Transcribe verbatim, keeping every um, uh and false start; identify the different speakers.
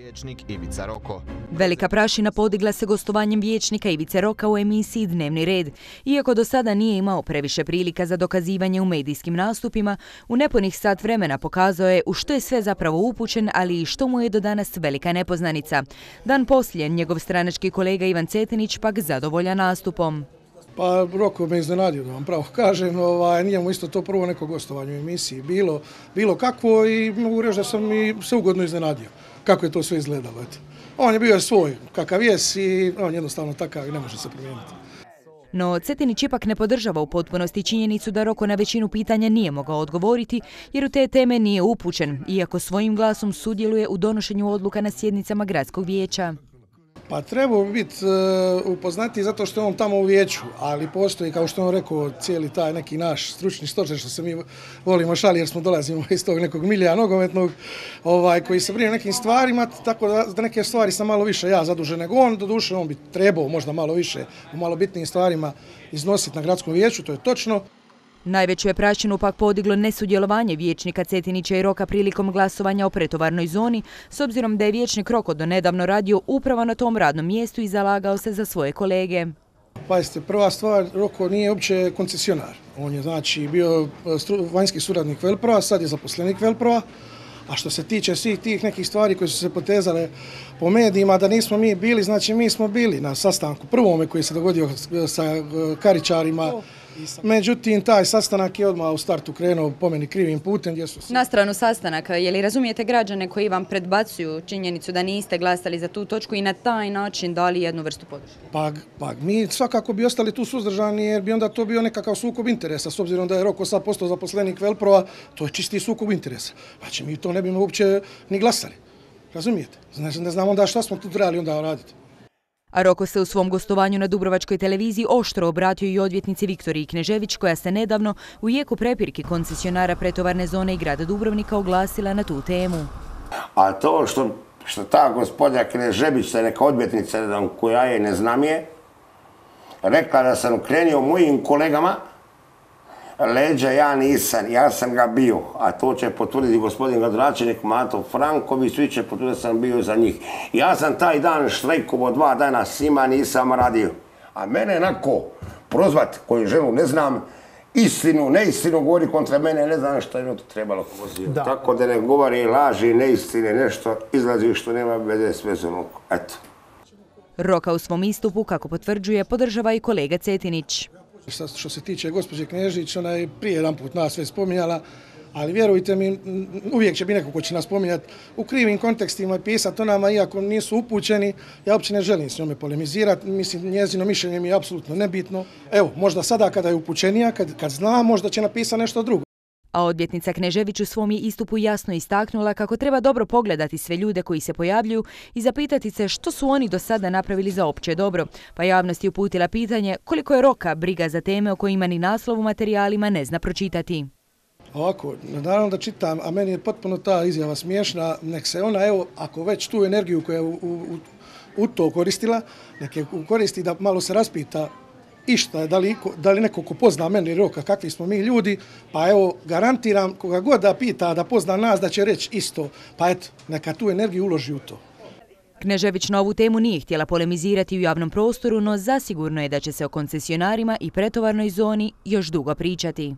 Speaker 1: Vijećnik Ivica Roko.
Speaker 2: Velika prašina podigla se gostovanjem vijećnika Ivice Roka u emisiji Dnevni red. Iako do sada nije imao previše prilika za dokazivanje u medijskim nastupima, u nepunih sat vremena pokazao je u što je sve zapravo upućen, ali i što mu je do danas velika nepoznanica. Dan poslije, njegov stranački kolega Ivan Cetinić pak zadovoljan nastupom.
Speaker 3: Pa Roko me iznenadio, da vam pravo kažem, ovaj, nije mu isto to prvo neko gostovanje u emisiji bilo, bilo kakvo i mogu reći da sam i se ugodno iznenadio kako je to sve izgledalo. Eto. On je bio svoj, kakav jes i on jednostavno takav i ne može se promijeniti.
Speaker 2: No, Cetinić ipak ne podržava u potpunosti činjenicu da Roko na većinu pitanja nije mogao odgovoriti jer u te teme nije upućen, iako svojim glasom sudjeluje u donošenju odluka na sjednicama gradskog vijeća.
Speaker 3: Pa trebao bi biti uh, upoznati zato što je on tamo u vijeću, ali postoji, kao što je on rekao, cijeli taj neki naš stručni stožer što se mi volimo šali jer smo dolazimo iz tog nekog milija nogometnog, ovaj, koji se brine nekim stvarima, tako da, da neke stvari sam malo više ja zadužen nego on, doduše on bi trebao možda malo više u malo bitnijim stvarima iznositi na gradskom vijeću, to je točno.
Speaker 2: Najveću je prašinu pak podiglo nesudjelovanje vijećnika Cetinića i Roka prilikom glasovanja o pretovarnoj zoni, s obzirom da je vijećnik Roko donedavno radio upravo na tom radnom mjestu i zalagao se za svoje kolege.
Speaker 3: Pazite, prva stvar, Roko nije uopće koncesionar. On je znači bio vanjski suradnik Velprova, sad je zaposlenik Velprova. A što se tiče svih tih nekih stvari koje su se potezale po medijima, da nismo mi bili, znači mi smo bili na sastanku prvome koji se dogodio sa karičarima. Međutim, taj sastanak je odmah u startu krenuo po meni krivim putem. Gdje su...
Speaker 4: Na stranu sastanaka, je li razumijete građane koji vam predbacuju činjenicu da niste glasali za tu točku i na taj način dali jednu vrstu podrške?
Speaker 3: Pa, pa mi svakako bi ostali tu suzdržani jer bi onda to bio nekakav sukob interesa. S obzirom da je Roko sad postao zaposlenik Velprova, to je čisti sukob interesa. Znači mi to ne bi uopće ni glasali. Razumijete? Znači ne znam onda šta smo tu trebali onda raditi.
Speaker 2: A Roko se u svom gostovanju na Dubrovačkoj televiziji oštro obratio i odvjetnici Viktoriji Knežević, koja se nedavno u jeku prepirki koncesionara pretovarne zone i grada Dubrovnika oglasila na tu temu.
Speaker 5: A to što, što ta gospodja Knežević, neka odvjetnica koja je ne znam je, rekla da sam ukrenio mojim kolegama, leđa ja nisam, ja sam ga bio, a to će potvrditi gospodin gradonačelnik Mato Franković, svi će potvrditi da sam bio za njih. Ja sam taj dan štrajkovo dva dana s njima nisam radio. A mene onako prozvat koju ženu ne znam, istinu, neistinu govori kontra mene, ne znam što je to trebalo. Da. Tako da ne govori laži, neistine, nešto izlazi što nema veze s vezom. Eto.
Speaker 2: Roka u svom istupu, kako potvrđuje, podržava i kolega Cetinić.
Speaker 3: Što se tiče gospođe Knežić, ona je prije jedan put nas sve spominjala, ali vjerujte mi, uvijek će biti neko ko će nas spominjati u krivim kontekstima i pisati o nama, iako nisu upućeni. Ja uopće ne želim s njome polemizirati, mislim, njezino mišljenje mi je apsolutno nebitno. Evo, možda sada kada je upućenija, kad, kad zna, možda će napisati nešto drugo.
Speaker 2: A odvjetnica Knežević u svom je istupu jasno istaknula kako treba dobro pogledati sve ljude koji se pojavljuju i zapitati se što su oni do sada napravili za opće dobro. Pa javnost je uputila pitanje koliko je Roka briga za teme o kojima ni naslov u materijalima ne zna pročitati.
Speaker 3: Ovako, naravno da čitam, a meni je potpuno ta izjava smiješna, nek se ona, evo, ako već tu energiju koja je u, u, u to koristila, nek je koristi da malo se raspita išta, da li, da li neko ko pozna mene i Roka, kakvi smo mi ljudi, pa evo, garantiram koga god da pita da pozna nas da će reći isto, pa eto, neka tu energiju uloži u to.
Speaker 2: Knežević na ovu temu nije htjela polemizirati u javnom prostoru, no zasigurno je da će se o koncesionarima i pretovarnoj zoni još dugo pričati.